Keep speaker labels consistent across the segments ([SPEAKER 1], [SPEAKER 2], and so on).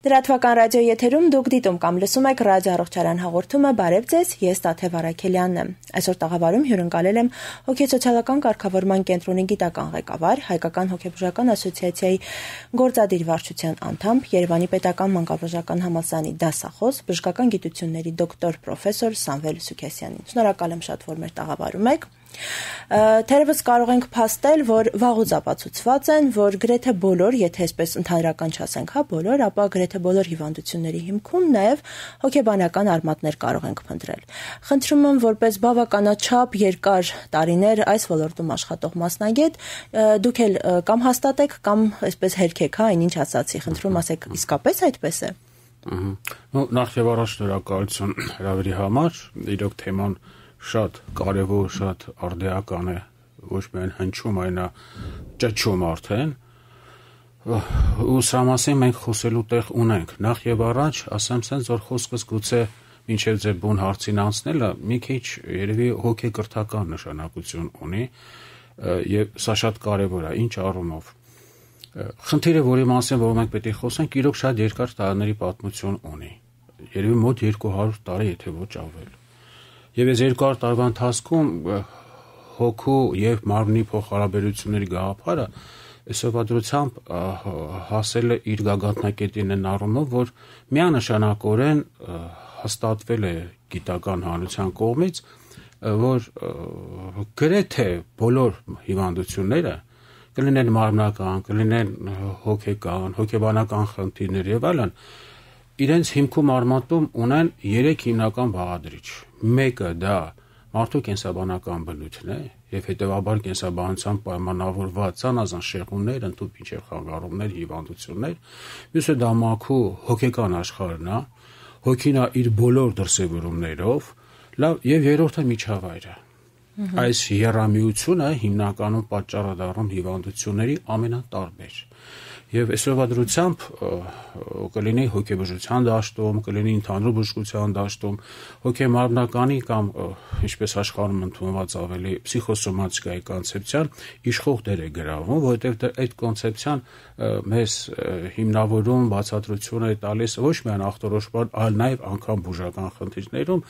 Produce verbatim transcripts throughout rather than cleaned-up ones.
[SPEAKER 1] Լրատվական ռադիոյի եթերում դուք դիտում կամ լսում եք ռադիո առողջարան հաղորդումը «Բարև ձեզ», ես Տաթև Արաքելյանն եմ։ Այսօր տաղավարում հյուրընկալել եմ հոգեսոցիալական կարգավորման կենտրոնի գիտական ղեկավար, Հայկական հոգեբուժական ասոցիացիայի գործադիր վարչության անդամ, Երևանի պետական մանկաբուժական համալսարանի դասախոս, բժշկական գիտությունների դոկտոր պրոֆեսոր Սամվել Սուքեսյանին։ Շնորհակալ եմ շատ, որ մեր տաղավարում եք։ Թերևս կարող ենք փաստել, որ վաղուց ապացուցված են, որ գրեթե բոլոր, եթե այսպես ընդհանրական չասենք, հա, բոլոր, ապա գրեթե բոլոր հիվանդությունների հիմքում նաև հոգեբանական արմատներ կարող ենք փնտրել։ Խնդրում եմ, որպես բավականաչափ երկար տարիներ այս ոլորտում աշխատող մասնագետ, դուք էլ կամ հաստատեք, կամ այսպես հերքեք, հա, այնինչ ասացի, խնդրում ասեք, իսկապես այդպես է։
[SPEAKER 2] Ну, նախ եւ առաջ շնորհակալություն հրավերի համար, իրոք թեման շատ կարևոր, շատ արդիական է, ոչ միայն հնչում, այնա ճճում արդեն, ու սրա մասին մենք խոսելու տեղ ունենք։ Նախ եւ առաջ ասեմ սենց, որ խոսքս գուցե մինչեւ ձեր բուն հարցին անցնելը մի քիչ երևի հոգեկրթական նշանակություն ունի, եւ սա շատ կարևոր է, ինչ առումով։ Խնդիրը, որի մասին որ մենք պետք է խոսենք, իրոք շատ երկար տարիների պատմություն ունի։ Երևի մոտ երկու հարյուր տարի, եթե ոչ ավել։ Եվ այս երկու հարյուր տարվա ընթացքում հոգու եւ մարմնի փոխհարաբերությունների գաղափարը այսօրվադրությամբ հասել է իր գագաթնակետին այն առումով, որ միանշանակորեն հաստատվել է գիտական հանրության կողմից, որ գրեթե բոլոր հիվանդությունները կլինեն մարմնական, կլինեն հոգեկան, հոգեբանական խնդիրներ եւ այլն, իրենց հիմքում արմատում ունեն երեք հիմնական բաղադրիչ։ Մեկը դա մարդու կենսաբանական բնույթն է եւ հետեւաբար կենսաբանությամբ պայմանավորված ցանազան շեղումներ, ընդհանուր մինչեւ խանգարումներ, հիվանդություններ։ Մյուսը դա մաքու հոգեկան աշխարհն է, հոգին է իր բոլոր դրսևորումներով, լավ, եւ երրորդը միջավայրը։ Այս երամիությունը հիմնականում պատճառ է դառնում հիվանդությունների ամենատարբեր։ Եվ այսօրվա դրությամբ կլինի հոգեբուժության դաշտում, կլինի ընդհանուր բժշկության դաշտում, հոգեմարմնականի կամ ինչպես աշխարհում ընդունված ավելի փսիխոսոմատիկայի կոնցեպցիան իշխող դեր է գրավում, որովհետև այդ կոնցեպցիան մեզ հիմնավորում, բացատրություն է տալիս ոչ միայն ախտորոշման, այլ նաև անգամ բուժական խնդիրներում,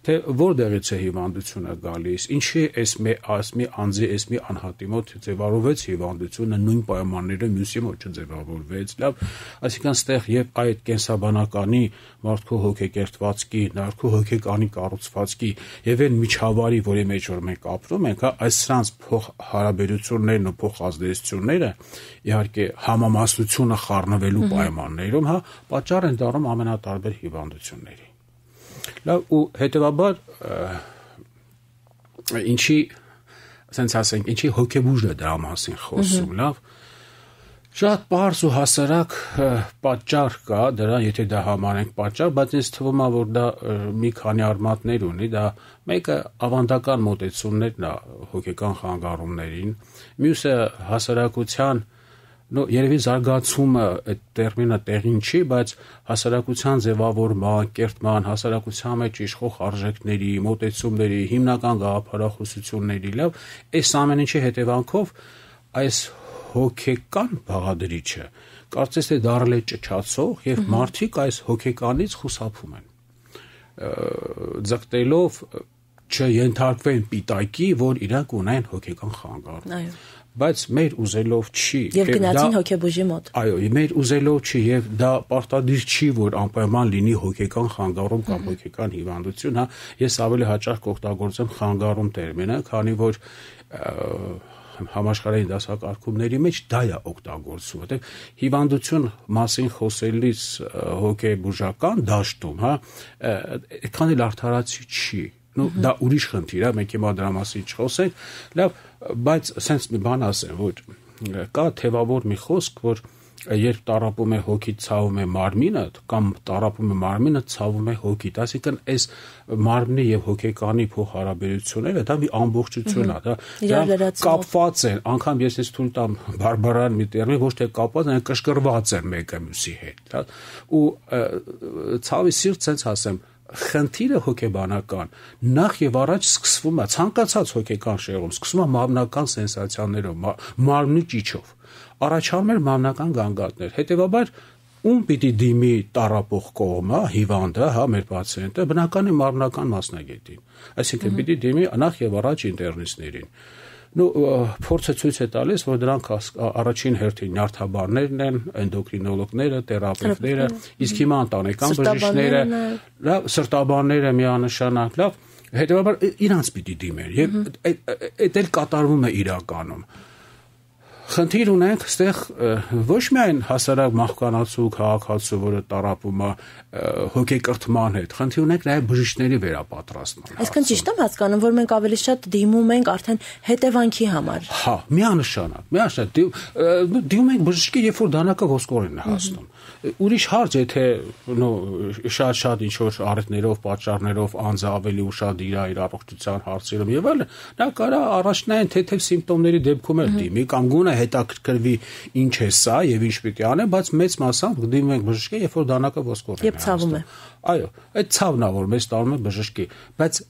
[SPEAKER 2] թե որտեղից է հիվանդությունը գալիս, ինչի էս մի ասմի անձի էս մի անհատի մոտ ձևավորվեց հիվանդությունը նույն պայմաններում մյուսի մոտ չձևավորվեց, լավ, այսինքն ստեղ եւ այդ կենսաբանականի մարդու հոգեկերտվածքի, նարքու հոգեկանի կառուցվածքի եւ այն միջավայրի, որի մեջ որ մենք ապրում ենք, հա, այս սրանց փոխհարաբերություններն ու փոխազդեցությունները իհարկե համամասնությունը խառնվելու պայմաններում, հա, պատճառ են դառնում ամենատարբեր հիվանդությունների։ Լավ, ու հետեւաբար ինչի, ասենք ասենք, ինչի հոգեբուժը դրա մասին խոսում, լավ, շատ պարզ ու հասարակ պատճառ կա դրա, եթե դա համարենք պատճառ, բայց ինձ թվում է, որ դա մի քանի արմատներ ունի, դա մեկը ավանդական մոտեցումներն է հոգեկան խանգարումներին, մյուսը հասարակության, նո երևի զարգացումը այդ տերմինը տեղին չի, բայց հասարակության ձևավորման, կերտման, հասարակության մեջ իշխող արժեքների, մոտեցումների, հիմնական գաղափարախոսությունների, լավ, այս ամեն ինչի հետևանքով այս հոգեկան բաղադրիչը կարծես թե դառել է ճճացող եւ մարդիկ այս հոգեկանից խուսափում են, ձգտելով չենթարկվեն պիտակի, որ իրանք ունեն հոգեկան խանգարում։
[SPEAKER 1] Այո։
[SPEAKER 2] Բայց մեր ուզելով չի։
[SPEAKER 1] Եվ գնացին հոգեբուժի մոտ։
[SPEAKER 2] Այո, մեր ուզելով չի եւ դա պարտադիր չի, որ անպայման լինի հոգեկան խանգարում կամ հոգեկան հիվանդություն, հա, ես ավելի հաճախ կօգտագործեմ խանգարում տերմինը, քանի որ համաշխարհային դասակարգումների մեջ դա է օգտագործվում, որտեղ հիվանդություն մասին խոսելիս հոգեբուժական դաշտում, հա, այդքան էլ արդարացի չի։ Ну, դա ուրիշ խնդիր է, մենք հիմա դրա մասին չխոսենք, լավ, բայց սենց մի բան ասեմ, որ կա թևավոր մի խոսք, որ երբ տառապում է հոգիդ, ցավում է մարմինը, կամ տառապում է մարմինը, ցավում է հոգիդ, այսինքն այս մարմնի եւ հոգեկանի փոխհարաբերությունները դա մի ամբողջություն է, դա կապված են, անգամ ես ես թույլ տամ բարբարան մի տերմին, ոչ թե կապված, այլ կշկրված են մեկը մյուսի հետ, հա, ու ցավի սիրտ սենց ասեմ, խնդիրը հոգեբանական նախ եւ առաջ սկսվում է ցանկացած հոգեկան շեղում, սկսվում է մարմնական սենսացիաներով, մարմնի ճիչով, առաջանում են մարմնական գանգատներ, հետեւաբար ում պիտի դիմի տառապող կողմը, հիվանդը, հա, մեր պացիենտը, բնական է մարմնական մասնագետին։ Այսինքն պիտի դիմի նախ եւ առաջ ինտերնիստներին։ Ну փորձը ցույց է տալիս, որ դրանք առաջին հերթին նյարդաբաններն են, էնդոկրինոլոգները, թերապևտները, իսկ հիմա ընտանեկան բժիշկները, լավ, սրտաբանները միանշանակ, լավ, հետեւաբար իրանց պիտի դիմեն եւ այդ էլ կատարվում է իրականում։ Խնդիր ունենք այստեղ ոչ միայն հասարակ մահկանացու քաղաքացու, որը տառապում է հոգեկրթման հետ, խնդիր ունենք նաև բժիշկների վերապատրաստման։
[SPEAKER 1] Այսինքն ճիշտ եմ հասկանում, որ մենք ավելի շատ դիմում ենք արդեն հետևանքի համար։
[SPEAKER 2] Հա, միանշանակ, միանշանակ դիմում ենք բժշկի, երբ որ դանակը ոսկորեն է հասնում։ Ուրիշ հարց, եթե շատ-շատ ինչ-որ առիթներով, պատճառներով անձը ավելի ուշադիր է իր առողջության հարցերում եւ այլն, նա կարող է առաջնային թեթև սիմպտոմների դեպքում էլ դիմի կամ գոնե հետաքրքրվի ինչ է սա եւ ինչ պիտի անե, բայց մեծ մասամբ դիմում ենք բժշկի, երբ որ դանակը ոսկորեն է։
[SPEAKER 1] Եվ ցավում է։
[SPEAKER 2] Այո, այդ ցավն է, որ մեզ տանում է բժշկի, բայց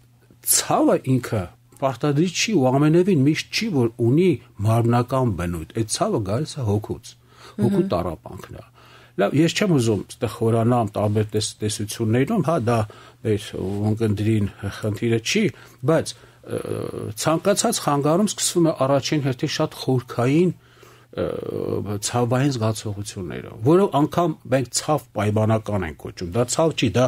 [SPEAKER 2] ցավը ինքը պարտադիր չի ու ամենևին միշտ չի, որ ունի մարմնական բնույթ։ Այդ ցավը գալիս է հոգուց, հոգու տառապանքն է։ Լավ, ես չեմ ուզում այդտեղ խորանամ տարբեր տեսություններում, հա, դա մեր ունկնդրին խնդիրը չի, բայց ցանկացած խանգարում սկսվում է առաջին հերթին շատ խորքային ցավային զգացողությունները, որով անգամ մենք ցավ պայմանական ենք կոչում։ Դա ցավ չի, դա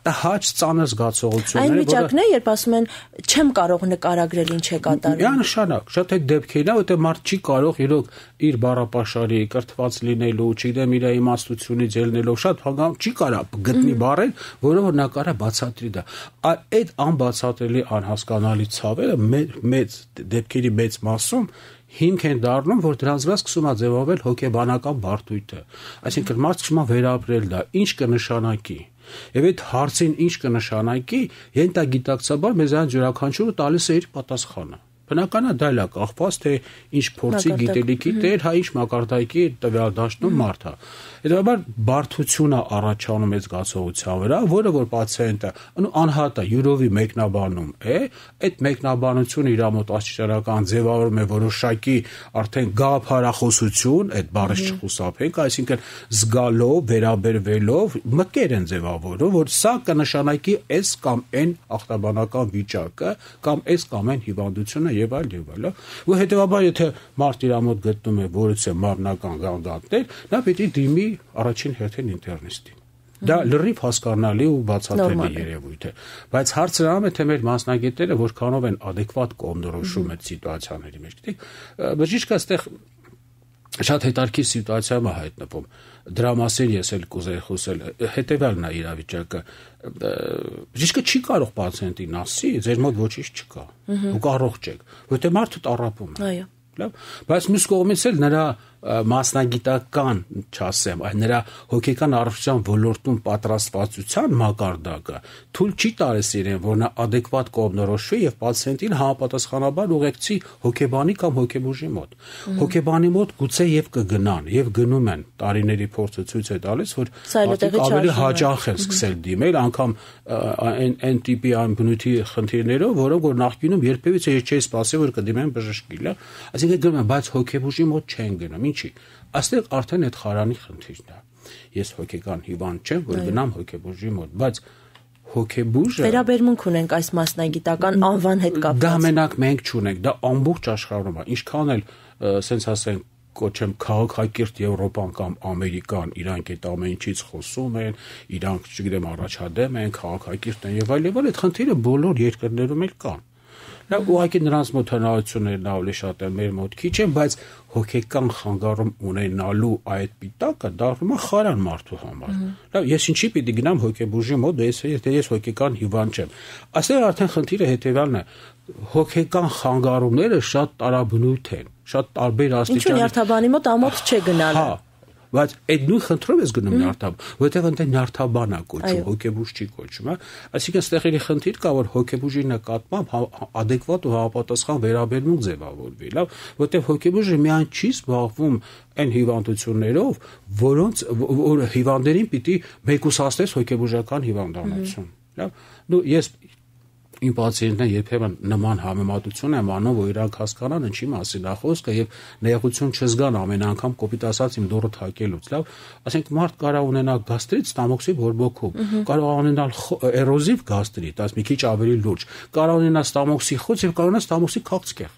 [SPEAKER 2] տհաճ ծանր զգացողություններ,
[SPEAKER 1] այն վիճակն է, երբ ասում են չեմ կարող նկարագրել ինչ է կատարվում։
[SPEAKER 2] Միանշանակ, շատ այդ դեպքերն է, որտեղ մարդ չի կարող իրոք իր բառապաշարի կրթված լինելու, չգիտեմ, իր իմաստությունից ելնելով շատ հանգամ չի կարող գտնի բառեր, որով նա կարող բացատրի դա։ Այդ անբացատրելի անհասկանալի ցավերը մեծ դեպքերի մեծ մասում հիմք են դառնում, որ դրանց վրա սկսում է ձևավորվել հոգեբանական բարդույթը։ Այսինքն մարդ սկսում է վերապրել դա, ինչ կնշանակի։ Եվ այդ հարցին ինչ կնշանակի, ենթագիտակցաբար մեզ այն յուրաքանչյուրը տալիս է իր պատասխանը։ Բնական է դա լա կախված թե ինչ փորձի գիտելիքի տեր, հա ինչ մակարդակի տվյալ դաշտում մարդը։ Հետևաբար բարդությունը առաջանում է զգացողության վրա, որը որ պացիենտը անհատը յուրովի մեկնաբանում է, այդ մեկնաբանությունը իր մոտ աստիճանական ձևավորում է որոշակի արդեն գաղափարախոսություն, այդ բառը չխուսափենք, այսինքն զգալով, վերաբերվելով մկեր են ձևավորում, որ սա կնշանակի այս կամ այն ախտաբանական վիճակը կամ այս կամ այն հիվանդությունը եւ այլ եւ այլ, ու հետեւաբար եթե մարդ իր մոտ գտնում է որից է մարմնական գանգատներ, նա պիտի դիմի առաջին հերթին ինտերնիստին։ Դա լրիվ հասկանալի ու բացատրելի երևույթ է, բայց հարցը անում է թե մեր մասնագետները որքանով են adekvat կողմնորոշում այդ սիտուացիաների մեջ։ Գիտեք, բժիշկը այստեղ շատ հետարքի սիտուացիայում է հայտնվում։ Դրա մասին ես էլ կուզեի խոսել։ Հետևյալն է իրավիճակը։ Բժիշկը չի կարող պացիենտին ասի, ձեր մոտ ոչինչ չկա։ Դուք առողջ եք, որտեղ մարդը տառապում է։
[SPEAKER 1] Այո։
[SPEAKER 2] Լավ, բայց մյուս կողմից էլ նրա մասնագիտական, չասեմ, այլ նրա հոգեկան առողջության ոլորտում պատրաստվածության մակարդակը թույլ չի տալիս իրեն, որ նա adekvat կողմնորոշվի եւ պացիենտին համապատասխանաբար ուղեկցի հոգեբանի կամ հոգեբուժի մոտ։ Հոգեբանի մոտ գուցե եւ կգնան եւ գնում են, տարիների փորձը ցույց է տալիս, որ ավելի հաճախ են սկսել դիմել, անգամ այն այն տիպի այն բնույթի խնդիրներով, որոնք որ նախկինում երբևիցե չէի սպասել, որ կդիմեն բժշկի, լավ։ Այսինքն գնում են, բայց հոգեբուժի մոտ չեն գնում, ինչի։ Այստեղ արդեն այդ խարանի խնդիրն է։ Ես հոգեկան հիվանդ չեմ, որ գնամ հոգեբուժի մոտ, բայց հոգեբուժը
[SPEAKER 1] վերաբերմունք ունենք այս մասնագիտական անվան հետ կապված։
[SPEAKER 2] Դա մենակ մենք չունենք, դա ամբողջ աշխարհում է։ Ինչքան էլ, ասենց ասենք, կոչեմ քաղաքակիրթ Եվրոպան կամ Ամերիկան, իրանք այդ ամեն ինչից խոսում են, իրանք, չգիտեմ, առաջադեմ են, քաղաքակիրթ են եւ այլ եւ այլ, այդ խնդիրը բոլոր երկրներում էլ կան։ Նա ուղղակի նրանց մոտ հնարավորություններն ավելի շատ են, մեր մոտ քիչ են, բայց հոգեկան խանգարում ունենալու այդ պիտակը դառնում է խարան մարդու համար։ Լավ, ես ինչի պիտի գնամ հոգեբուժի մոտ, եթե ես հոգեկան հիվանդ չեմ։ Այստեղ արդեն խնդիրը հետեւյալն է. հոգեկան խանգարումները շատ տարաբնույթ են, շատ տարբեր աստիճանի։
[SPEAKER 1] Ինչու նյարդաբանի մոտ ամոթ չէ գնալը։
[SPEAKER 2] Հա, բայց այդ նույն խնդրով ես գնում նյարդաբան, որովհետև այնտեղ նյարդաբան է կոչում, հոգեբուժ չի կոչում, հա։ Այսինքն ստեղերի խնդիր կա, որ հոգեբուժի նկատմամբ adekvat ու համապատասխան վերաբերմունք ձևավորվի, լավ, որովհետև հոգեբուժը միայն չի զբաղվում այն հիվանդություններով, որոնց որ հիվանդերին պիտի մեկուսացնես հոգեբուժական հիվանդանոցում, լավ։ Դու ես իմ պացիենտները երբեմն նման համեմատություն եմ անում, որ իրանք հասկանան ինչի մասին է խոսքը եւ նեղություն չզգան ամեն անգամ կոպիտ ասած իմ դուռը թակելուց, լավ, ասենք մարդ կարող ունենա գաստրիտ ստամոքսի բորբոքում, կարող ունենալ էրոզիվ գաստրիտ, այս մի քիչ ավելի լուրջ, կարող ունենա ստամոքսի խոց եւ կարող ունենա ստամոքսի քաղցկեղ։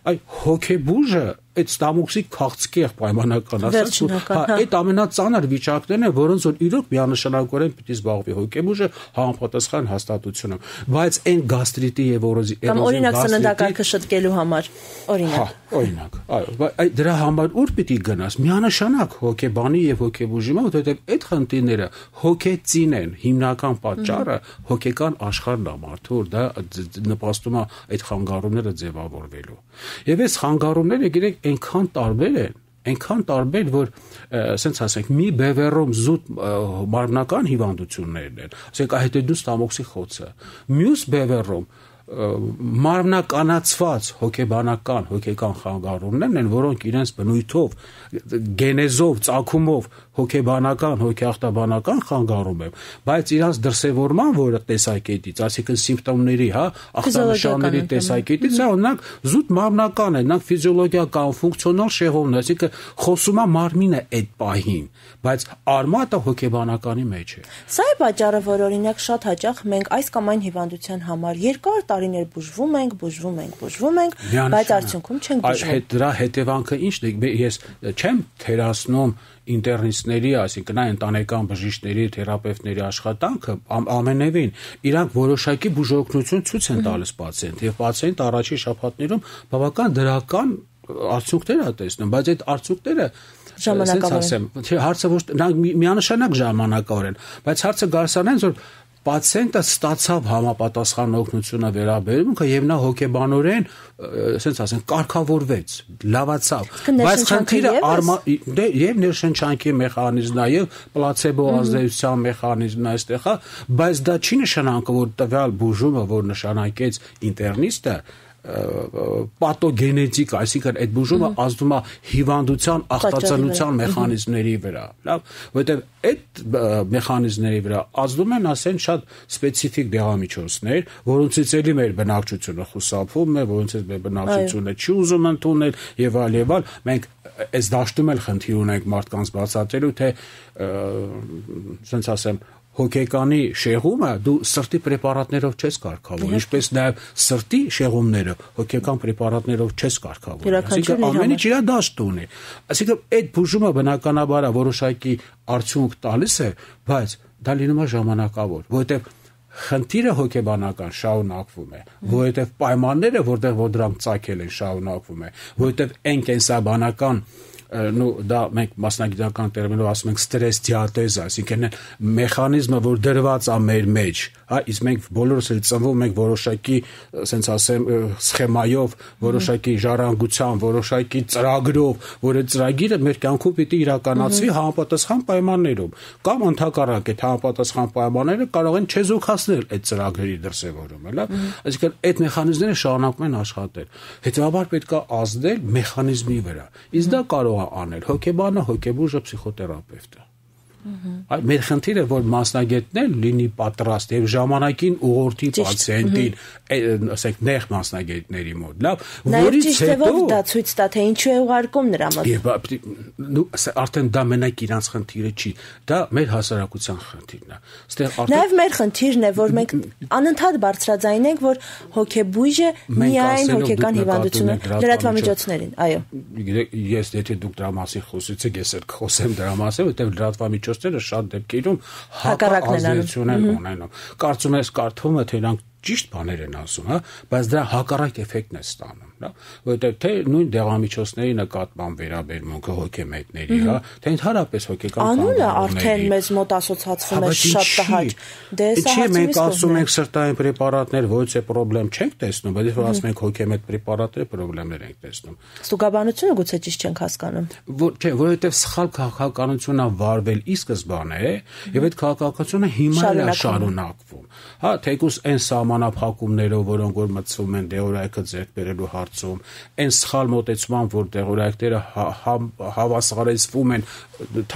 [SPEAKER 2] Այ հոգեբուժը այդ ստամոքսի քաղցկեղ պայմանական ասած, հա, այդ ամենածանր վիճակներն են, որոնց որ իրոք միանշանակորեն պիտի զբաղվի հոգեբուժը համապատասխան հաստատությունով, բայց այն գաստրիտի եւ էրոզիվ
[SPEAKER 1] կամ օրինակ սննդակարգը շտկելու համար, օրինակ։
[SPEAKER 2] Հա, օրինակ, այո, այ դրա համար ուր պիտի գնաս, միանշանակ հոգեբանի եւ հոգեբուժի մոտ, որովհետեւ այդ խնդիրները հոգեծին են, հիմնական պատճառը հոգեկան աշխարհն է մարդու, որ դա նպաստում է այդ խանգարումները ձևավորվելու։ Եվ այս խանգարումները գիտեք այնքան տարբեր են, այնքան տարբեր, որ ասենց ասենք, մի բևեռում զուտ մարմնական հիվանդություններն են, ասենք ահետեդուս ստամոքսի խոցը, մյուս բևեռում մարմնականացված հոգեբանական, հոգեկան խանգարումներն են, որոնք իրենց բնույթով, գենեզով, ծագումով հոգեբանական, հոգեախտաբանական խանգարում են, բայց իրենց դրսևորման որը տեսակետից, այսինքն սիմպտոմների, հա, ախտանշանների տեսակետից, օրինակ զուտ մարմնական է, նրանք ֆիզիոլոգիական, ֆունկցիոնալ շեղումն, այսինքն խոսում է մարմինը այդ պահին, բայց արմատը հոգեբանականի մեջ է։
[SPEAKER 1] Սա է պատճառը, որ օրինակ շատ հաճախ մենք այս կամ այն հիվանդության համար երկար տարիներ բուժվում ենք, բուժվում ենք, բուժվում ենք, բայց արդյունքում չենք բուժվում։
[SPEAKER 2] Դրա հետևանքը ի՞նչն է։ Ես չեմ թերացնում ինտերնիստների, այսինքն այն ընտանեկան բժիշկների, թերապևտների աշխատանքը ամենևին, իրանք որոշակի բուժօգնություն ցույց են տալիս պացիենտ, եւ պացիենտը առաջին շաբաթներում բավական դրական արդյունքներ է տեսնում, բայց այդ արդյունքները
[SPEAKER 1] ժամանակավոր
[SPEAKER 2] են։ Հարցը ոչ միանշանակ ժամանակավոր են, բայց հարցը գարսանեն, որ պացիենտը ստացավ համապատասխան օգնությունը վերաբերումքը եւ նա հոգեբանորեն, ասենց ասենք, կարգավորվեց, լավացավ, բայց խնդիրը եւ ներշնչանքի մեխանիզմն է եւ պլացեբո ազդեցության մեխանիզմն է այստեղ, բայց դա չի նշանակում, որ տվյալ բուժումը, որ նշանակեց ինտերնիստը, պաթոգենետիկ, այսինքն այդ բուժումը ազդում է հիվանդության ախտածանության մեխանիզմների վրա, լավ, որովհետև այդ մեխանիզմների վրա ազդում են ասեն շատ սպეციფიկ դեղամիջոցներ, որոնցից էլի մեր բնակչությունը խուսափում է, որոնցից մեր բնակչությունը չի ուզում ընդունել եւ այլ եւ այլ, մենք այս դաշտում էլ խնդիր ունենք մարդկանց բացատրելու, թե ասենց ասեմ հոգեկանի շեղումը դու սրտի պրեպարատներով չես կարգավորում, ինչպես նաև սրտի շեղումները հոգեկան պրեպարատներով չես կարգավորում։ Այսինքն ամեն ինչ իր դաշտ ունի։ Այսինքն այդ բուժումը բնականաբար որոշակի արդյունք տալիս է, բայց դա լինում է ժամանակավոր, որովհետև խնդիրը հոգեբանական շարունակվում է, որովհետև պայմանները, որտեղ որ դրանք ծագել են, շարունակվում է, որովհետև այն կենսաբանական նո դա մենք մասնագիտական տերմինով ասում ենք ստրես դիաթեզ, այսինքն մեխանիզմը, որ դրված է մեր մեջ, հա, իսկ մենք բոլորս էլ ծնվում ենք որոշակի, ասենց ասեմ, սխեմայով, որոշակի ժառանգության, որոշակի ծրագրով, որ այդ ծրագիրը մեր կյանքում պիտի իրականացվի համապատասխան պայմաններում, կամ ընդհակառակ այդ համապատասխան պայմանները կարող են չեզոքացնել այդ ծրագրերի դրսևորումը, լավ, այսինքն այդ մեխանիզմները շարունակում են աշխատել, հետեւաբար պետք է ազդել մեխանիզմի վրա, իսկ դա կարող անել հոգեբանը, հոգեբուժը, պսիխոթերապևտը։ Այ մեր խնդիրը որ մասնագետներ լինի պատրաստ եւ ժամանակին ուղղորդի պացիենտին, ասենք նեղ մասնագետների մոտ, լավ,
[SPEAKER 1] որից հետո դա ցույց տա թե ինչու է ուղարկում նրա մոտ։
[SPEAKER 2] Եվ արդեն դա մենակ իրանց խնդիրը չի, դա մեր հասարակության խնդիրն է։ Այստեղ արդեն
[SPEAKER 1] նաեւ մեր խնդիրն է, որ մենք անընդհատ բարձրաձայնենք, որ հոգեբույժը միայն հոգեկան հիվանդություն է լրատվամիջոցներին, այո։
[SPEAKER 2] Ես եթե դուք դրա մասին խոսեցիք, ես էլ խոսեմ դրա մասին, որտեղ լրատվամիջոցները շատ դեպքերում հակազդեցություն են ունենում։ Կարծում ես կարդում է թե իրանք ճիշտ բաներ են ասում, հա, բայց դրա հակառակ էֆեկտն է ստանում, հա, որովհետև թե նույն դեղամիջոցների նկատմամբ վերաբերմունքը հոգեմետների, հա, թե ընդհանրապես հոգեկան
[SPEAKER 1] անունը արդեն մեզ մոտ ասոցացվում է շատ տհաճ։ Դե
[SPEAKER 2] սա մենք ասում ենք սրտային պրեպարատներ, ոչ է խնդրեմ չենք տեսնում, բայց որ ասում ենք հոգեմետ պրեպարատներ, խնդիրներ ենք տեսնում։
[SPEAKER 1] Ստուգաբանությունը գուցե ճիշտ չենք հասկանում։
[SPEAKER 2] Չէ, որովհետև սխալ քաղաքականությունն է վարվել ի սկզբանե, եւ այդ քաղաքականությունը հիմա է շարունակվում։ Հա, թեկուզ այն սահմանափակումներով, որոնք որ մտցվում են դեղորայքը ձեռք բերելու հարցում, այն սխալ մոտեցման, որ դեղորայքները հավասարեցվում են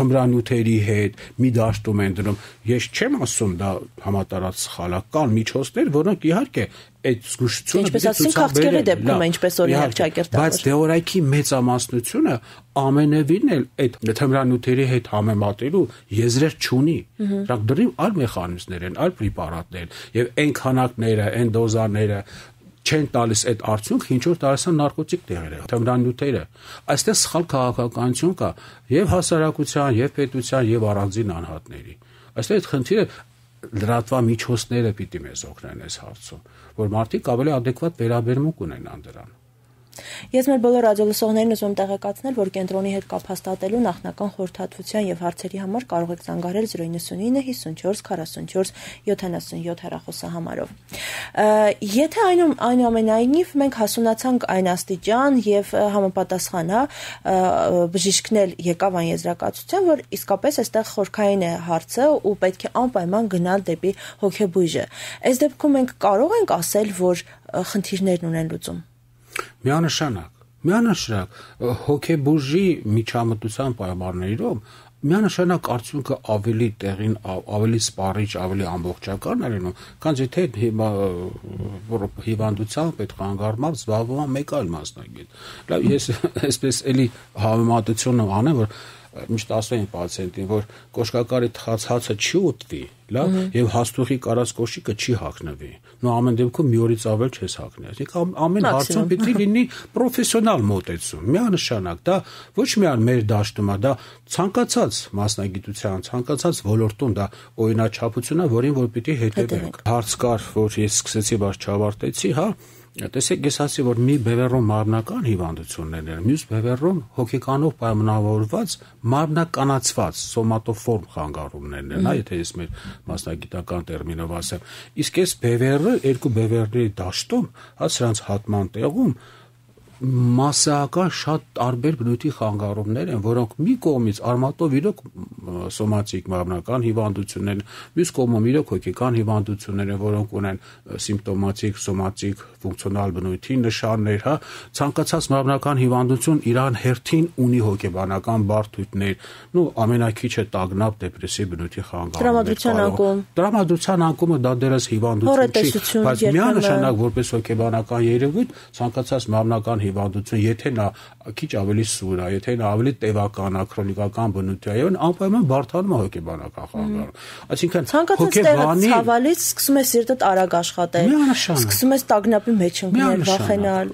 [SPEAKER 2] թմրանյութերի հետ, մի դաշտում են դնում։ Ես չեմ ասում դա համատարած սխալ է, կան միջոցներ, որոնք իհարկե այդ զգուշությունը
[SPEAKER 1] ինչպես ասում քաղցկեղի դեպքում է, ինչպես օրինակ ճակերտավոր։
[SPEAKER 2] Բայց դեղորայքի մեծամասնությունը ամենևին էլ այդ թմրանյութերի հետ համեմատելու եզրեր չունի։ Դրանք դրիվ այլ մեխանիզմներ են, այլ պրեպարատներ են, եւ այն քանակները, այն դոզաները չեն տալիս այդ արդյունքը, ինչ որ տարածան նարկոտիկ տեղերը, թմրանյութերը։ Այստեղ սխալ քաղաքականություն կա եւ հասարակության, եւ պետության, եւ առանձին անհատների։ Այստեղ այդ խնդիրը լրատվամիջոցները պիտի մեզ օգնեն այս հարցում, որ մարդիկ ավելի adekvat վերաբերմունք ունենան դրան։
[SPEAKER 1] Ես մեր բոլոր ռադիոլսողներին ուզում եմ տեղեկացնել, որ կենտրոնի հետ կապ հաստատելու նախնական խորհրդատվության եւ հարցերի համար կարող եք զանգահարել zero nine nine fifty-four forty-four seventy-seven հեռախոսահամարով։ Եթե այն այնուամենայնիվ մենք հասունացանք այն աստիճան եւ համապատասխան հա բժիշկնել եկավ այն եզրակացության, որ իսկապես այստեղ խորքային է հարցը ու պետք է անպայման գնալ դեպի հոգեբույժը։ Այս դեպքում մենք կարող ենք ասել, որ խնդիրներն ունեն լուծում։
[SPEAKER 2] Միանշանակ, միանշանակ հոգեբուժի միջամտության պայմաններում միանշանակ արդյունքը ավելի տեղին, ավելի սպառիչ, ավելի ամբողջական է լինում, քան եթե հիվանդությամբ այդ խանգարումով զբաղվում է մեկ այլ մասնագետ։ Լավ, ես այսպես էլի համեմատություն անեմ, որ միշտ ասում են պացիենտին, որ կոշկակարի թխած հացը չի ուտվի, լավ, եւ հաստուղի կարած կոշիկը չի հագնվի։ Նո ամեն դեպքում մի օրից ավել չես հագնի։ Այսինքն ամեն հարցում պիտի լինի պրոֆեսիոնալ մոտեցում։ Միանշանակ դա ոչ միայն մեր դաշտում է, դա ցանկացած մասնագիտության, ցանկացած ոլորտում դա օրինաչափություն է, որին որ պիտի հետևենք։ Հարց կար, որ ես սկսեցի, բայց չավարտեցի, հա։ Տեսեք, ես ասի, որ մի բևեռում մարմնական հիվանդություններ են, մյուս բևեռում հոգեկանով պայմանավորված մարմնականացված սոմատոֆորմ խանգարումներն են, հա, եթե ես մեր մասնագիտական տերմինով ասեմ։ Իսկ այս բևեռը երկու բևեռների դաշտում, հա, սրանց հատման տեղում մասսայական շատ տարբեր բնույթի խանգարումներ են, որոնք մի կողմից արմատով իրոք սոմատիկ մարմնական հիվանդություններ են, մյուս կողմում իրոք հոգեկան հիվանդություններ են, որոնք ունեն սիմպտոմատիկ, սոմատիկ, ֆունկցիոնալ բնույթի նշաններ, հա, ցանկացած մարմնական հիվանդություն իրան հերթին ունի հոգեբանական բարդություններ, նու ամենակիչը տագնապ, դեպրեսիվ բնույթի խանգարումներ։
[SPEAKER 1] Տրամադրության անկում։
[SPEAKER 2] Տրամադրության անկումը դա դեռս հիվանդություն չի, բայց միանշանակ որպես հոգեբանական երևույթ ցանկացած մարմնական հիվանդություն, եթե նա քիչ ավելի սուր է, եթե նա ավելի տևական է, քրոնիկական բնույթի է, եւ անպայման բարդանում է հոգեբանական խանգարում։ Այսինքն
[SPEAKER 1] հոգեբանի ցավալից սկսում է սիրտդ արագ աշխատել, սկսում ես տագնապի մեջ ընկնել, վախենալ։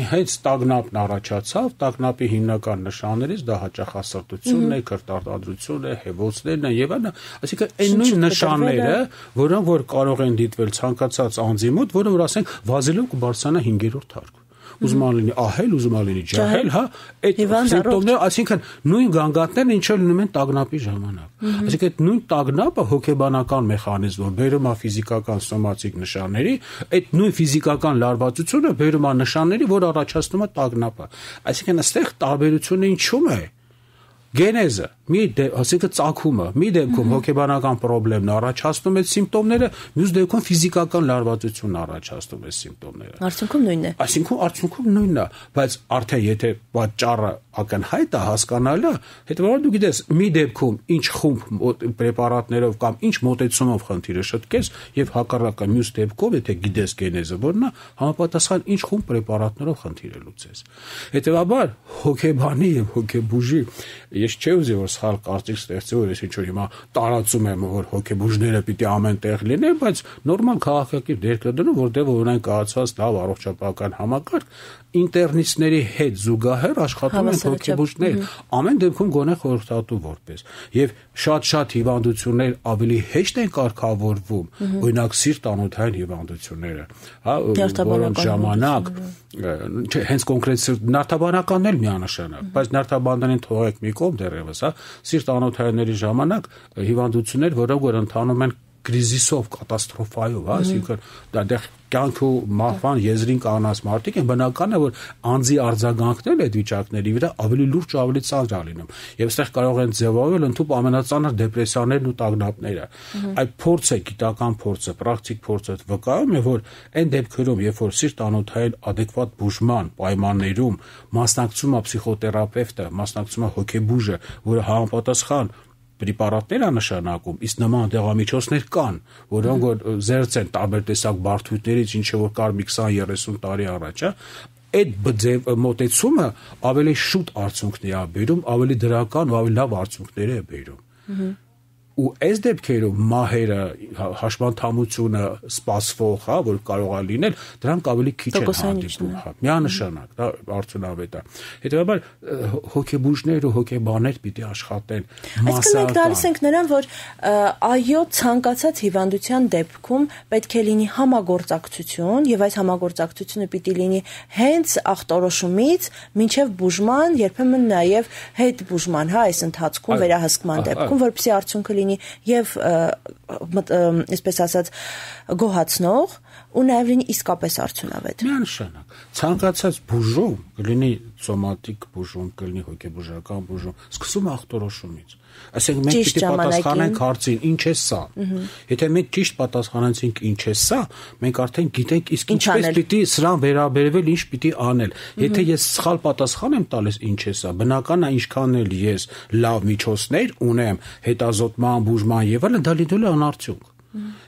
[SPEAKER 2] Հենց տագնապն առաջացավ, տագնապի հիմնական նշաններից դա հաճախասրտությունն է, քրտարտադրությունն է, հեվոցներն են եւ այլն, այսինքն այն նույն նշանները, որոնք որ կարող են դիտվել ցանկացած անձի մոտ, որը որ ասենք վազելով կբարձրանա հինգերորդ հարկ։ Ուզում լինի ահել, ուզում լինի ջահել, հա, այդ սիմպտոմները, այսինքն նույն գանգատներն ինչ որ լինում են տագնապի ժամանակ։ Այսինքն այդ նույն տագնապը հոգեբանական մեխանիզմով բերում է ֆիզիկական սոմատիկ նշանների, այդ նույն ֆիզիկական լարվածությունը բերում է նշանների, որ առաջացնում է տագնապը։ Այսինքն այստեղ տարբերությունը ինչու՞մ է։ Գենեզը, մի ասիկը ծագումը, մի դեպքում հոգեբանական խնդիրն առաջացնում է սիմպտոմները, մյուս դեպքում ֆիզիկական լարվածությունն առաջացնում է սիմպտոմները։
[SPEAKER 1] Արդյունքում նույնն է։
[SPEAKER 2] Այսինքն արդյունքում նույնն է, բայց արդեն եթե պատճառը ակնհայտ է, հասկանալի է, հետո դու գիտես, մի դեպքում ինչ խումբ պրեպարատներով կամ ինչ մոտեցումով խնդիրը շտկես եւ հակառակը մյուս դեպքով, եթե գիտես գենեզը որն է, համապատասխան ինչ խումբ պրեպարատներով խնդիրը լուծես։ Հետեւաբար հոգեբանի եւ հոգեբուժի ես չէ ուզի որ սխալ կարծիք ստեղծի, որ ես ինչ որ հիմա տարածում եմ, որ հոգեբուժները պիտի ամեն տեղ լինեն, բայց նորմալ քաղաքակիրթ դեր կդնում, որտեղ ունեն կայացած լավ առողջապահական համակարգ, ինտերնիստների հետ զուգահեռ աշխատում են հոգեբուժներ, ամեն դեպքում գոնե խորհրդատու որպես։ Եւ շատ-շատ հիվանդություններ ավելի հեշտ են կարգավորվում, օրինակ սիրտ-անոթային հիվանդությունները, հա, որոնց ժամանակ չէ, հենց կոնկրետ նարդաբանականն էլ միանշանակ, բայց նարդաբաններին թողեք մի կողմ դեռևս, հա, սիրտ-անոթայինների ժամանակ հիվանդություններ, որոնք որ ընթանում են կրիզիսով, կատաստրոֆայով, հա, այսինքն դա դեռ կյանք ու մահվան եզրին կանած մարդիկ են, բնական է, որ անձի արձագանքներն այդ վիճակների վրա ավելի լուրջ ու ավելի ծանր լինում։ Եվ այստեղ կարող են ձևավորվել ընդհանուր ամենածանր դեպրեսիաներն ու տագնապները։ Այդ փորձը, գիտական փորձը, պրակտիկ փորձը վկայում է, որ այն դեպքերում, երբ որ սիրտանոթային adekvat բուժման պայմաններում մասնակցում է պսիխոթերապևտը, մասնակցում է հոգեբուժը, որը համապատասխան պրեպարատներ է նշանակում, իսկ նման դեղամիջոցներ կան, որոնք որ զերծ են տարբեր տեսակ բարդություններից, ինչը որ կար մի քսան երեսուն տարի առաջ, այդ մոտեցումը ավելի շուտ արդյունքներ է բերում, ավելի դրական ու ավելի լավ արդյունքներ է բերում։ Ու այս դեպքերում մահերը, հաշմանդամությունը սպասվող, հա, որ կարող է լինել, դրանք ավելի քիչ են հանդիպում, հա, միանշանակ, դա արդյունավետ է։ Հետևաբար հոգեբուժներ ու հոգեբաններ պիտի աշխատեն
[SPEAKER 1] մասսայական։ Այսինքն մենք տալիս ենք նրան, որ այո, ցանկացած հիվանդության դեպքում պետք է լինի համագործակցություն, եւ այս համագործակցությունը պիտի լինի հենց ախտորոշումից մինչեւ բուժման, երբեմն նաեւ հետ բուժման, հա, այս ընթացքում վերահսկման դեպքում, որպեսզի արդյունքը լինի եւ այսպես ասած գոհացնող ու նաեւ լինի իսկապես արդյունավետ։
[SPEAKER 2] Միանշանակ ցանկացած բուժում կլինի սոմատիկ բուժում, կլինի հոգեբուժական բուժում, սկսում ախտորոշումից։ Այսինքն մենք պիտի պատասխանենք հարցին, ինչ է սա։ Եթե մենք ճիշտ պատասխանեցինք ինչ է սա, մենք արդեն գիտենք իսկ ինչպես պիտի սրան վերաբերվել, ինչ պիտի անել։ Եթե ես սխալ պատասխան եմ տալիս ինչ է սա, բնական է ինչքան էլ ես լավ միջոցներ ունեմ, հետազոտման, բուժման եւ այլն, դա լինելու է անարդյունք։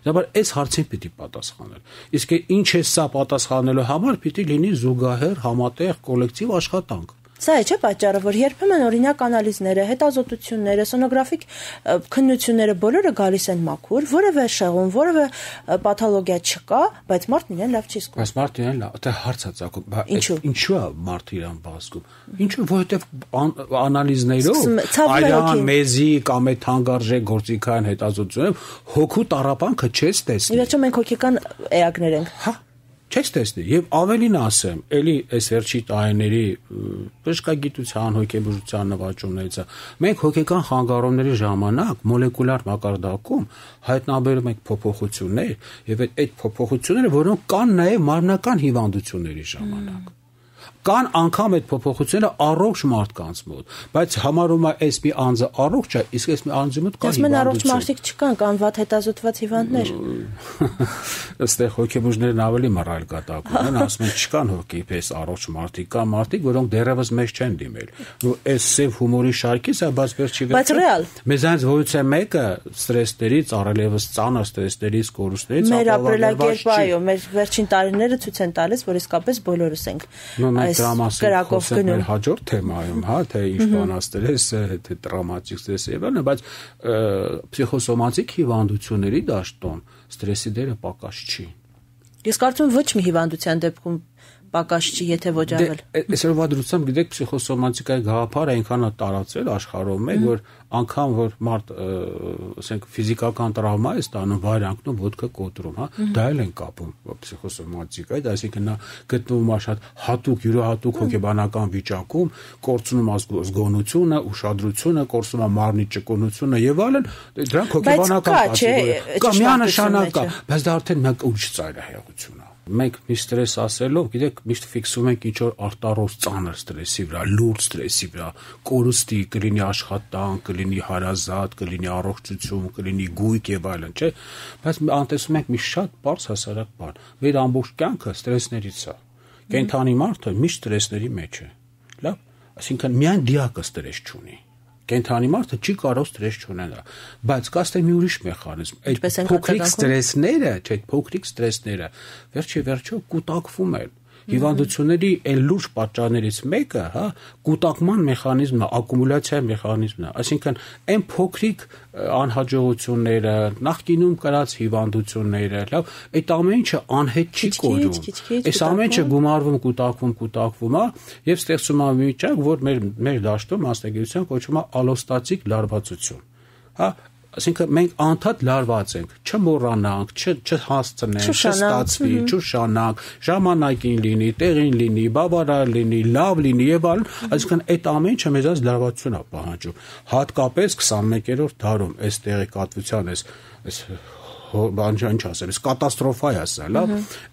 [SPEAKER 2] Դեռ այս հարցին պիտի պատասխանել։ Իսկ ինչ է սա պատասխանելու համար պիտի լինի զուգահեռ համատեղ կոլեկտիվ աշխատանք։
[SPEAKER 1] Սա է չէ պատճառը, որ երբեմն օրինակ անալիզները, հետազոտությունները, սոնոգրաֆիկ քննությունները բոլորը գալիս են մաքուր, որևէ շեղում, որևէ պաթոլոգիա չկա, բայց մարդն իրեն լավ չի զգում։
[SPEAKER 2] Բայց մարդն իրեն լավ, դա հարց է ծագում, ինչու է մարդը իրեն բազգում։ Ինչու, որովհետև անալիզներով այլան մեզի կամ այդ թանկարժեք գործիքային հետազոտություններով հոգու տառապանքը չես տեսնի։
[SPEAKER 1] Ի վերջո մենք հոգեկան էակներ ենք։
[SPEAKER 2] Հա չես տեսնի եւ ավելին ասեմ, էլի այս վերջի տարիների բժշկագիտության, հոգեբուժության նվաճումներից է։ Մենք հոգեկան խանգարումների ժամանակ մոլեկուլար մակարդակում հայտնաբերում ենք փոփոխություններ եւ այդ փոփոխությունները, որոնք կան նաեւ մարմնական հիվանդությունների ժամանակ։ Կան անգամ այդ փոփոխությունները առողջ մարդկանց մոտ, բայց համարում է այս մի անձը առողջ է, իսկ այս մի անձի մոտ կա
[SPEAKER 1] հիվանդություն։ Իսկ առողջ մարդիկ չկան, կան վատ հետազոտված հիվանդներ։
[SPEAKER 2] Այստեղ հոգեբուժներն ավելի մռայլ կատակ ունեն, ասում են չկան հոգեպես առողջ մարդիկ, կան մարդիկ, որոնք դեռևս մեզ չեն դիմել։ Ու այս սև հումորի շարքից է, բայց վերջի
[SPEAKER 1] վերջո։
[SPEAKER 2] Մեզանից որից է մեկը ստրեսներից, առավելևս ծանր ստրեսներից, կորուստներից
[SPEAKER 1] մեր ապրելակերպը, այո, մեր վերջին տարիները ցույց են տալիս, որ իսկապես բոլորս ենք
[SPEAKER 2] կրակով գնում։ Մեր հաջորդ թեմայում, հա, թե ինչ բան ստրեսը, թե տրավմատիկ ստրեսը եւ այլն, բայց պսիխոսոմատիկ հիվանդությունների դաշտում ստրեսի դերը պակաս չի։
[SPEAKER 1] Ես կարծում եմ ոչ մի հիվանդության դեպքում պակաս չի, եթե ոչ ավել։
[SPEAKER 2] Այսօրվա դրությամբ գիտեք պսիխոսոմատիկայի գաղափարը այնքան է տարածվել աշխարհում, մեկ որ անգամ որ մարդ, ասենք ֆիզիկական տրավմա է ստանում, վայր անկնում, ոտքը կոտրում, հա, դա էլ են կապում պսիխոսոմատիկայի, այսինքն նա գտնվում է շատ հատուկ, յուրահատուկ հոգեբանական վիճակում, կորցնում ազգոնությունը, ուշադրությունը, կորցնում է մարմնի ճկունությունը եւ այլն, դրանք հոգեբանական պատճառներ են։ Կա միանշանակ կա, բայց դա արդեն մենք ուժ ծայրահեղություն է։ Մենք մի ստրես ասելով, գիտեք, միշտ ֆիքսում ենք ինչ որ արտարոց ծանր ստրեսի վրա, լուրջ ստրեսի վրա, կորուստի, կլինի աշխատանք, կլինի հարազատ, կլինի առողջություն, կլինի գույք եւ այլն, չէ՞։ Բայց անտեսում ենք մի շատ բարձ հասարակ բան։ Մեր ամբողջ կյանքը ստրեսներից է։ Կենթանի մարդը միշտ ստրեսների մեջ է։ Լավ, այսինքն միայն դիակը ստրես չունի։ Կենթանի մարդը չի կարող ստրես չունենալ, բայց կա ստե մի ուրիշ մեխանիզմ։ Այդ փոքրիկ ստրեսները, չէ, փոքրիկ ստրեսները վերջի վերջո կուտակվում են։ Հիվանդությունների այն լուրջ պատճառներից մեկը, հա, կուտակման մեխանիզմն է, ակումուլյացիայի մեխանիզմն է, այսինքն այն փոքրիկ անհաջողությունները, նախկինում կրած հիվանդությունները, լավ, այդ ամեն ինչը անհետ չի կորում։ Այս ամեն ինչը գումարվում, կուտակվում, կուտակվում է եւ ստեղծում է մի վիճակ, որ մեր մեր դաշտում մասնագիտության կոչվում է ալոստատիկ լարվածություն։ Հա, այսինքն մենք անդադ լարված ենք, չմոռանանք, չհասցնենք, չստացվի, չուշանանք, ժամանակին լինի, տեղին լինի, բավարար լինի, լավ լինի եւ այլն, այսինքն այդ ամեն ինչը մեզանից լարվածություն է պահանջում։ Հատկապես քսանմեկերորդ դարում այս տեղեկատվության, այս այս բան ինչ ասեմ, կատաստրոֆա է ասել, լավ։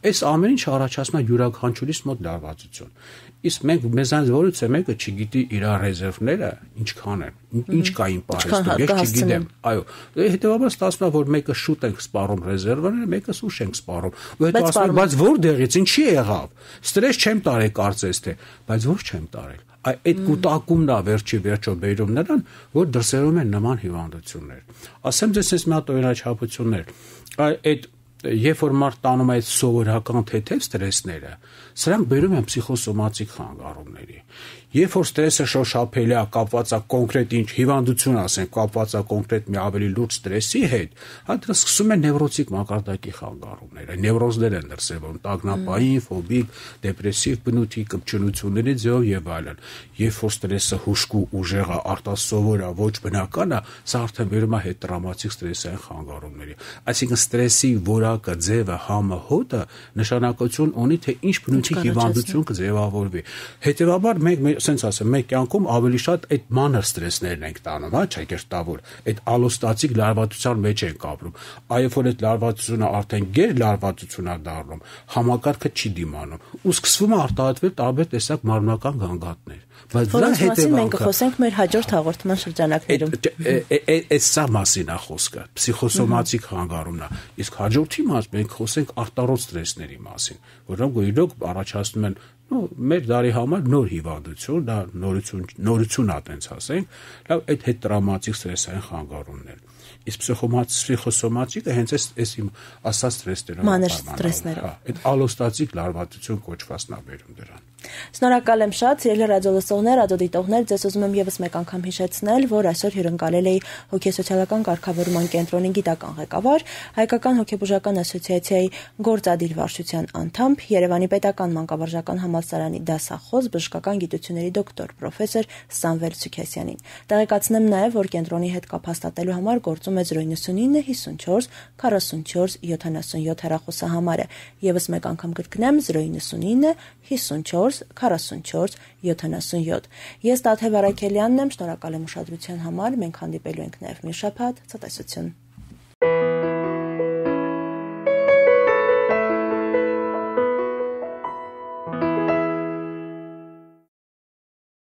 [SPEAKER 2] Այս ամեն ինչ առաջացնում է յուրաքանչյուրիս մոտ լարվածություն։ Իսկ մենք մեզանից որից է մեկը չգիտի իր ռեզերվները ինչքան են, ինչ կային պահեստում, ես չգիտեմ։ Այո, հետեւաբար ստացվում է, որ մեկը շուտ ենք սպառում ռեզերվները, մեկը ուշ ենք սպառում։ Ու հետո ասում են, բայց որտեղից, ինչի եղավ։ Ստրես չեմ տարել կարծես թե, բայց ոչ չեմ տարել։ Այդ կուտակումն է վերջի վերջո բերում նրան, որ դրսերում են նման հիվանդություններ։ Ասեմ ձեզ այս մի հատ օրինաչափություններ։ Այդ երբ որ մարդ տանում է այդ սովորական թեթև ստրեսները, սրանք բերում են փսիխոսոմատիկ խանգարումների։ Երբ որ ստրեսը շոշափելի է, կապված է կոնկրետ ինչ հիվանդություն ասենք, կապված է կոնկրետ մի ավելի լուրջ ստրեսի հետ, հա դրա սկսում են նևրոտիկ մակարդակի խանգարումները, նևրոզներ են դրսևորում, տագնապային, ֆոբիկ, դեպրեսիվ բնույթի կպչունությունների ձևով եւ այլն։ Երբ որ ստրեսը հուժկու ուժեղ է, արտասովոր է, ոչ բնական է, սա արդեն բերում է հետտրավմատիկ ստրեսային խանգարումների։ Այսինքն ստրեսի որակը, ձևը, համը, հոտը նշանակություն ունի, թե ինչ բնույթի հիվանդություն կձևավորվի։ Հետևաբար մենք ասենց ասեմ, մենք կյանքում ավելի շատ այդ մանր ստրեսներն ենք տանում, հա, ճակերտավոր, այդ ալոստատիկ լարվածության մեջ ենք ապրում։ Այո, որ այդ լարվածությունը արդեն գեր լարվածություն է դառնում, համակարգը չի դիմանում, ու սկսվում է արտահայտվել տարբեր տեսակ մարմնական գանգատներ։ Բայց դրա հետևանքը
[SPEAKER 1] մենք կխոսենք մեր հաջորդ հաղորդման շրջանակներում։
[SPEAKER 2] Այս սա մասին է խոսքը, փսիխոսոմատիկ խանգարումն է։ Իսկ հաջորդի մաս մենք խոսենք արտառոց ստրեսների մասին, որոնք իրոք առաջացնում են Ну, մեր դարի համար նոր հիվանդություն, դա նորություն, նորություն է, տենց ասենք, լավ, այդ հետտրավմատիկ ստրեսային խանգարումներ։ Իսկ փսիխոսոմատիկը հենց այս այս իմ ասած ստրեսներով
[SPEAKER 1] մանր ստրեսներով։
[SPEAKER 2] Այդ ալոստատիկ լարվածություն կոչվածն է բերում դրան։
[SPEAKER 1] Շնորհակալ եմ շատ, սիրելի ռադիոլսողներ, ռադիոդիտողներ, ձեզ ուզում եմ եւս մեկ անգամ հիշեցնել, որ այսօր հյուրընկալել էի հոգեսոցիալական կարգավորման կենտրոնի գիտական ղեկավար, Հայկական հոգեբուժական ասոցիացիայի գործադիր վարչության անդամ, Երևանի պետական մանկավարժական համալսարանի դասախոս, բժշկական գիտությունների դոկտոր, պրոֆեսոր Սամվել Սուքեսյանին։ Տեղեկացնեմ նաեւ, որ կենտրոնի հետ կապ հաստատելու համար գործում է zero nine nine հիսունչորս քառասունչորս յոթանասունյոթ հեռախոսահամարը։ Եվս մեկ անգամ կրկնեմ zero nine nine հիսունչորս քառասունչորս յոթանասունյոթ։ Ես Տաթև Արաքելյանն եմ, շնորհակալ եմ ուշադրության համար, մենք հանդիպելու ենք նաև մի շաբաթ, ցտեսություն։